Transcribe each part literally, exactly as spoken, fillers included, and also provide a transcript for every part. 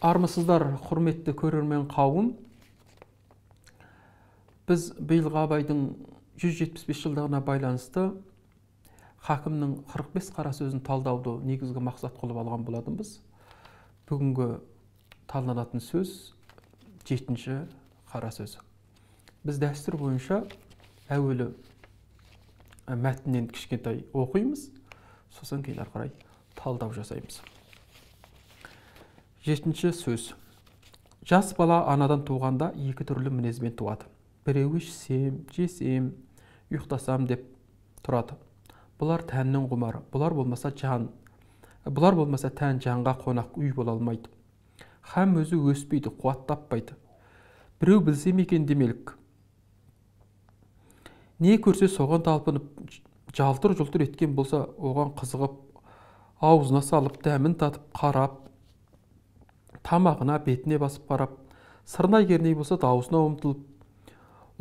Армысыздар, құрметті көрермен қауым. Біз биылғы Абайдың жүз жетпіс бес жылдығына байланысты хакімнің қырық бес қара сөзін талдауды негізгі мақсат қылып алған болатынбыз. Бүгінгі талданатын сөз жетінші қара сөз. Біз дәстүр бойынша әуелі мәтіннен кішкентай оқимыз, сосын кейін ары қарай талдау жасаймыз. Жетінші сөз. Жас бала анадан туғанда екі түрлі мінезбен туады. Біреуі ішсем, жесем, ұйықтасам деп тұрады. Бұлар тәннің құмары. Бұлар болмаса жан. Бұлар болмаса тән жанға қонақ үй бола алмайды. Һәм өзі өспейді, қуат таппайды. Біреу білсем екен демелік. Не көрсе соған талпынып, жалтыр-жұлтыр еткен болса, оған қызығып, аузына салып, дәмін татып, қарап, тамағына, бетіне басып қарап, сырнай керней болса даусына ұмтылып,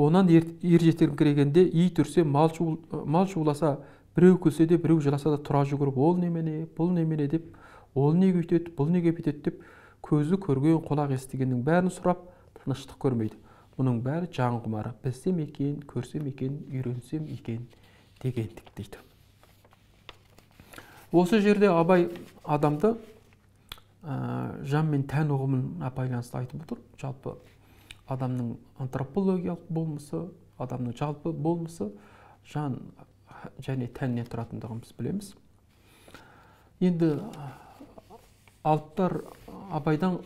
онан ер жетіңкірегенде ит үрсе, мал шуласа, біреу күлсе де, біреу жыласа да тұра жүгіріп, ол немене, бұл немене деп, ол неге үйтеді, бұл неге бүйтеді деп, көзі көрген, құлақ естігеннің бәрін сұрап, тыныштық көрмейді. Мұның бәрі жан құмары. Білсем екен, көрсем екен, үйренсем екен дегендік дейді. Осы жерде Абай адамды жан мен тән ұғымына байланысты айтып отыр. Жалпы адамның антропологиялық болмысы, адамның жалпы болмысы жан және тәннен тұратындығын біз білеміз. Енді алыптар Абайдан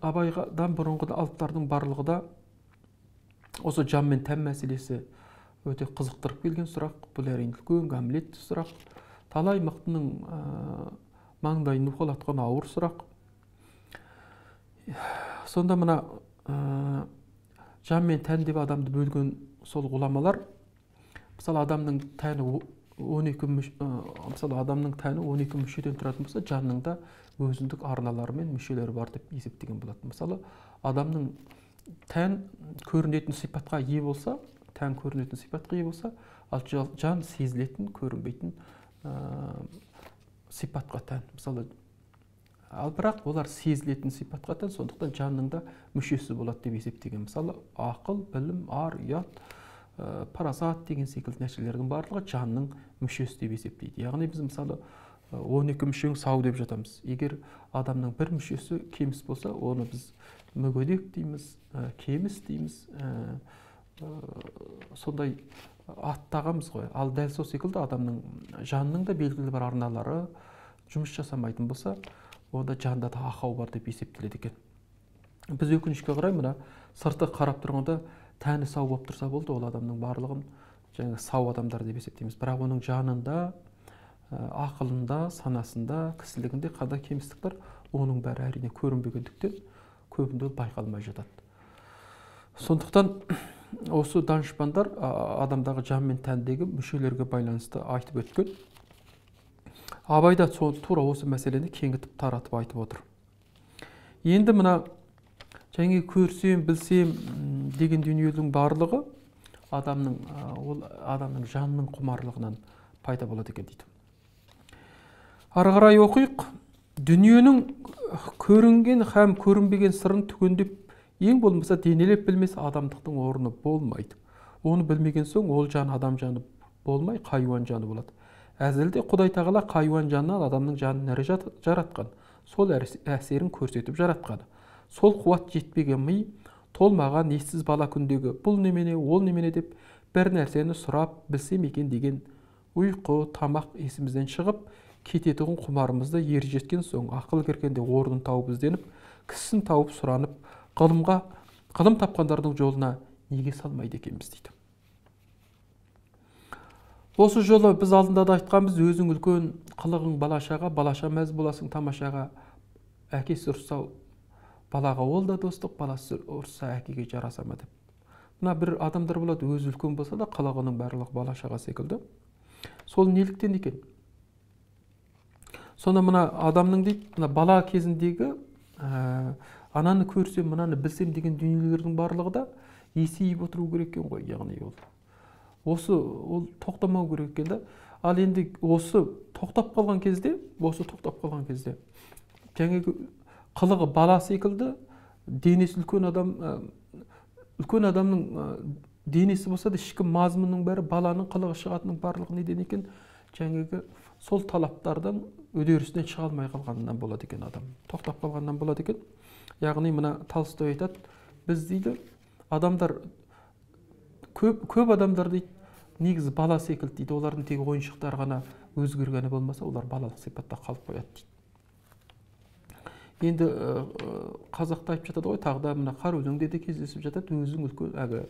Абайдан бұрынғы алыптардың барлығы да осы жан мен тән мәселесі өте қызықтырып келген сұрақ. Бұл әрине үлкен гамлет сұрақ. Талай мықтының маңдайын уқалатқан ауыр сұрақ. Сонда мына жан мен тән деп адамды бөлген сол ғұламалар, мысалы адамның тәні он екі мысалы адамның тәні он екі мүшеден тұратын болса, жанның да өзіндік арналары мен мүшелері бар деп есептеген болады. Мысалы адамның тән көрінетін сипатқа ие болса, тән көрінетін сипатқа ие болса, ал жан сезілетін, көрінбейтін сипатқа тән. Мысалы, ал бірақ олар сезілетін сипатқа тән, сондықтан жанның да мүшесі болады деп есептеген. Мысалы, ақыл, білім, ар, ұят, парасат деген секілді нәрселердің барлығы жанның мүшесі деп есептейді. Яғни біз мысалы он екі мүшең сау деп жатамыз. Егер адамның бір мүшесі кеміс болса, оны біз мүгедек дейміз, кеміс дейміз, сондай аттағамыз ғой. Ал дәл сол секілді адамның жанның да белгілі бір арналары жұмыс жасамайтын болса, онда жанда да ақау бар деп есептеледі екен. Біз өкінішке қарай мына сырты қарап тұрғанда тәні сау болып тұрса болды, ол адамның барлығын жаңа сау адамдар деп есептейміз. Бірақ оның жанында, ақылында, санасында, кісілігінде қандай кемістік бар, оның бәрі әрине көрінбегендіктен көбінде ол байқалмай жатады. Сондықтан осы данышпандар адамдағы жан мен тәндегі мүшелерге байланысты айтып өткен. Абай да тура осы мәселені кеңітіп таратып айтып отыр. Енді мына және көрсем, білсем деген дүниенің барлығы адамның ол адамның жанның құмарлығынан пайда болады екен дейді. Ары қарай оқиық. Дүниенің көрінген һәм көрінбеген сырын түгендеп, ең болмаса денелеп білмес адамдықтың орны болмайды. Оны білмеген соң ол жан адам жаны болмай, хайуан жаны болады. Әзілде Құдай тағала хайуан жанынан адамның жанын әрі жаратқан, сол әсерін көрсетіп жаратқаны. Сол қуат жетпеген ми, толмаған ессіз бала күндегі бұл немене, ол немене деп бір нәрсені сұрап білсем екен деген ұйқы, тамақ есімізден шығып, кететігін құмарымызды ері жеткен соң, ақыл кіргенде орнын тауып ізденіп, кісісін тауып сұранып, ғылымға, ғылым тапқандардың жолына неге салмайды екенбіз дейді. Осы жолы біз алдында да айтқанбыз, өзің үлкен қылығың балашаға, балаша мәз боласың тамашаға, әкесі ұрса балаға ол да достық, баласы ұрса әкеге жараса ма деп. Мына бір адамдар болады, өзі үлкен болса да қылығының барлығы балашаға секілді. Сол неліктен екен? Сонда мына адамның дейді, мына бала кезіндегі ананы көрсем, мынаны білсем деген дүниелердің барлығы да есейіп отыру керек екен ғой, яғни ол. Осы ол тоқтамау керек екен да. Ал енді осы тоқтап қалған кезде, осы тоқтап қалған кезде, жаңағы қылығы бала секілді, денесі үлкен адам, үлкен адамның денесі болса да ішкі мазмұнның бәрі баланың қылығы шығатынның барлығы неден екен? Жаңағы сол талаптардан үдерісінен шыға алмай қалғанынан болады екен адам. Тоқтап қалғаннан болады екен. Яғни мына Толстой айтады, біз дейді адамдар, көп, көп адамдар дейді, негізі бала секілді дейді, олардың тек ойыншықтар ғана өзгергені болмаса, олар балалық сипатта қалып қояды дейді. Енді қазақта айтып жатады ғой, тағда мына қар өлеңде де кездесіп жатады, өзің үлкен, әгі,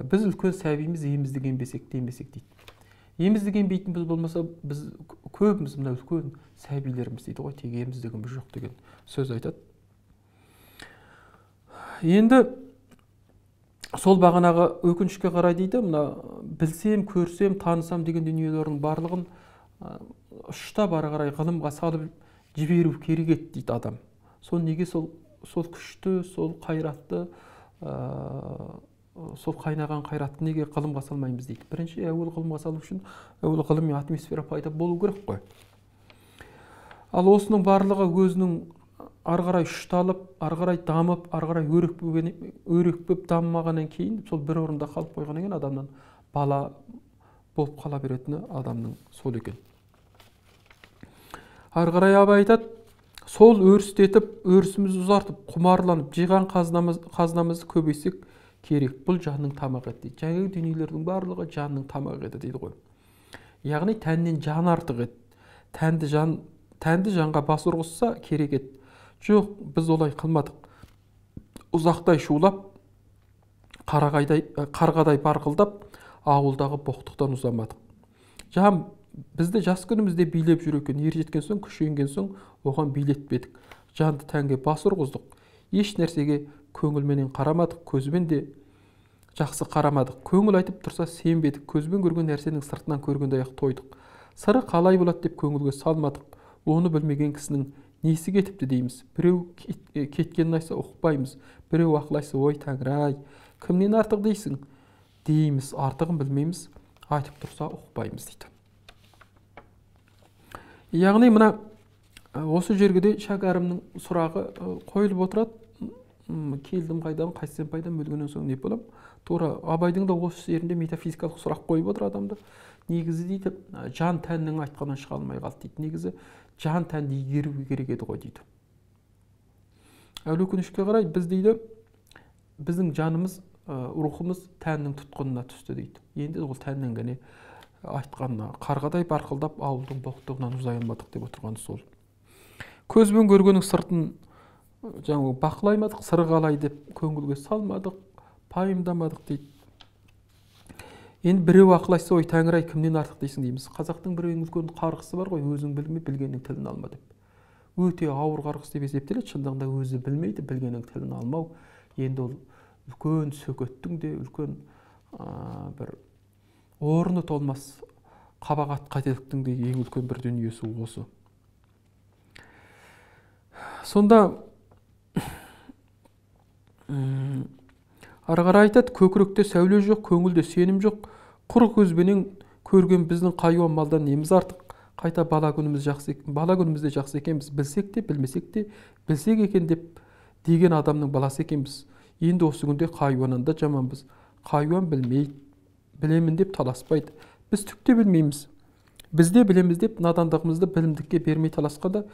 біз үлкен сәбиміз, емізді ембесек демесек дейді. Емізді ембейтін біз болмаса, біз көбіміз мына үлкен сәбилеріміз дейді ғой, тек еміздігіміз жоқ деген сөз айтады. Енді сол бағанағы өкінішке қарай дейді, мына білсем, көрсем, танысам деген дүниелердің барлығын ұштап ары қарай ғылымға салып жіберу керек еді дейді адам. Сол неге сол, сол күшті, сол қайратты, сол қайнаған қайратты неге ғылымға салмаймыз дейді. Бірінші, әуел ғылымға салу үшін әуел ғылыми атмосфера пайда болу керек қой. Ал осының барлығы өзінің ары қарай ұшталып, ары қарай дамып, ары қарай өрекпіп дамымағаннан кейін, сол бір орында қалып қойғаннан кейін адамнан бала болып қала беретіні адамның сол екен. Ары қарай Абай айтады, сол өрістетіп, өрісімізді ұзартып, құмарланып, жиған қазынамыз, қазынамызды көбейсек керек. Бұл жанның тамағы еді дейді. Жаңағы дүниелердің барлығы жанның тамағы еді дейді ғой. Яғни тәннен жан артық еді. Тәнді жан, тәнді жанға бас ұрғызса керек еді. Жоқ, біз олай қылмадық. Ұзақтай шулап, қарағайдай, қарғадай барқылдап, ауылдағы боқтықтан ұзамадық. Жан бізді жас күнімізде билеп жүр екен, ер жеткен соң, күшейген соң, оған билетпедік. Жанды тәнге бас ұрғыздық. Еш нәрсеге көңілменен қарамадық, көзбен де жақсы қарамадық. Көңіл айтып тұрса сенбедік, көзбен көрген нәрсенің сыртынан көргендей ақ тойдық. Сыры қалай болады деп көңілге салмадық. Оны білмеген кісінің несі кетіпті дейміз. Біреу кеткенін айтса ұқпаймыз. Біреу ақылайса, ой Тәңір-ай, кімнен артық дейсің? Дейміз, артығын білмейміз, айтып тұрса ұқпаймыз дейді. Яғни мына осы жергеде шәкәрімнің сұрағы қойылып отырады. Келдім қайдан, қайтсем пайдам, өлгеннен соң не болам? Тура Абайдың да осы жерінде метафизикалық сұрақ қойып отыр адамды. Негізі дейді, жан тәннің айтқанынан шыға алмай қалды дейді. Негізі жан тәнді игеру керек еді ғой дейді. Әл өкінішке қарай біз дейді, біздің жанымыз, рухымыз тәннің тұтқынына түсті дейді. Енді ол тәннен ғана айтқанына қарғадай барқылдап ауылдың боқтығынан ұзай алмадық деп отырғаны сол. Көзбен көргеннің сыртын жаңағы бақылаймадық, сыры қалай деп көңілге салмадық, пайымдамадық дейді. Енді біреу ақылайса, ой Тәңір-ай, кімнен артық дейсің дейміз. Қазақтың бір ең үлкен қарғысы бар ғой, өзің білме, білгеннің тілін алма деп. Өте ауыр қарғыс деп есептеледі. Шындығында өзі білмейді, білгеннің тілін алмау. Енді ол үлкен сөкеттің де үлкен бір орны толмас қабағат қателіктің де ең үлкен бір дүниесі осы. Сонда ары қарай айтады, көкіректе сәуле жоқ, көңілде сенім жоқ, құр көзбенен көрген біздің қайуан малдан неміз артық. Қайта бала күніміз жақсы, бала күнімізде жақсы екенбіз, білсек те, білмесек те, білсек екен деп деген адамның баласы екенбіз. Енді осы күнде қайуаннан да жаманбыз. Қайуан білмейді, білемін деп таласпайды. Біз түк те білмейміз. Біз де білеміз деп надандығымызды білімдікке бермей таласқанда,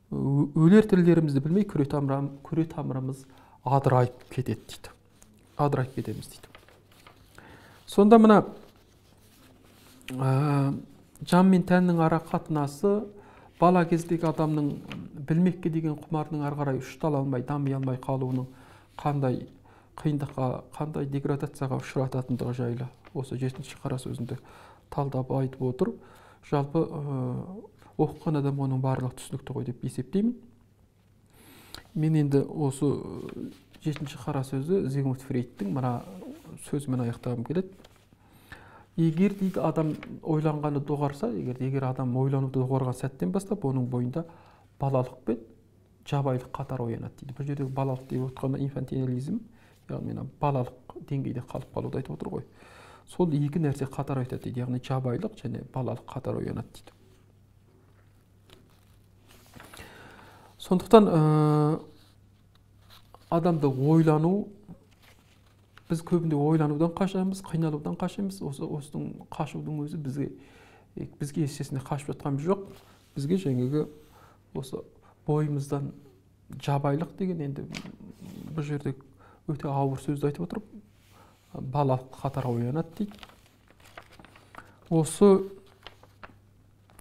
өлер тірілерімізді білмей күре тамырымыз адырайып кетеді дейді. Адырайып кетеміз дейді. Сонда мына жан мен тәннің ара қатынасы, бала кездегі адамның білмекке деген құмарының ары қарай ұштала алмай, дами алмай қалуының қандай қиындыққа, қандай деградацияға ұшырататындығы жайлы осы жетінші қара сөзінде талдап айтып отыр. Жалпы оқыған адам оның барлық түсінікті ғой деп есептеймін. Мен енді осы жетінші қара сөзі Зигмунд Фрейдтің мына сөзімен аяқтағым келеді. Егер дейді адам ойланғаны доғарса, егер, егер адам ойлануды доғарған сәттен бастап, оның бойында балалық пен жабайылық қатар оянады дейді. Бұл жердегі балалық деп отқанда инфантилизм, яғни балалық деңгейде қалып қалуды айтып отыр ғой. Сол екі нәрсе қатар айтады дейді, яғни жабайылық және балалық қатар оянады дейді. Сондықтан ә, адамды ойлану, біз көбінде ойланудан қашамыз, қиналудан қашамыз. Осы осының қашудың өзі бізге бізге естесіне қашып жатқанымыз жоқ. Бізге жаңағы осы бойымыздан жабайлық деген, енді бұл жерде өте ауыр сөзді айтып отырып, бала қатар оянады дейді. Осы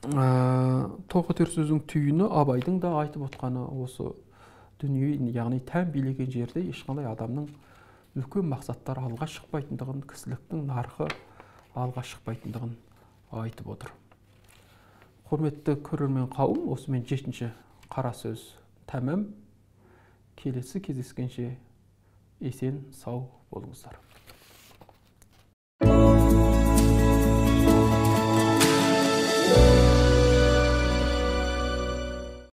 ә, тоқетер сөздің түйіні Абайдың да айтып отқаны осы дүние, яғни тән билеген жерде ешқандай адамның үлкен мақсаттар алға шықпайтындығын, кісіліктің нарқы алға шықпайтындығын айтып отыр. Құрметті көрермен қауым, осымен жетінші қара сөз тәмам. Келесі кездескенше есен сау болыңыздар.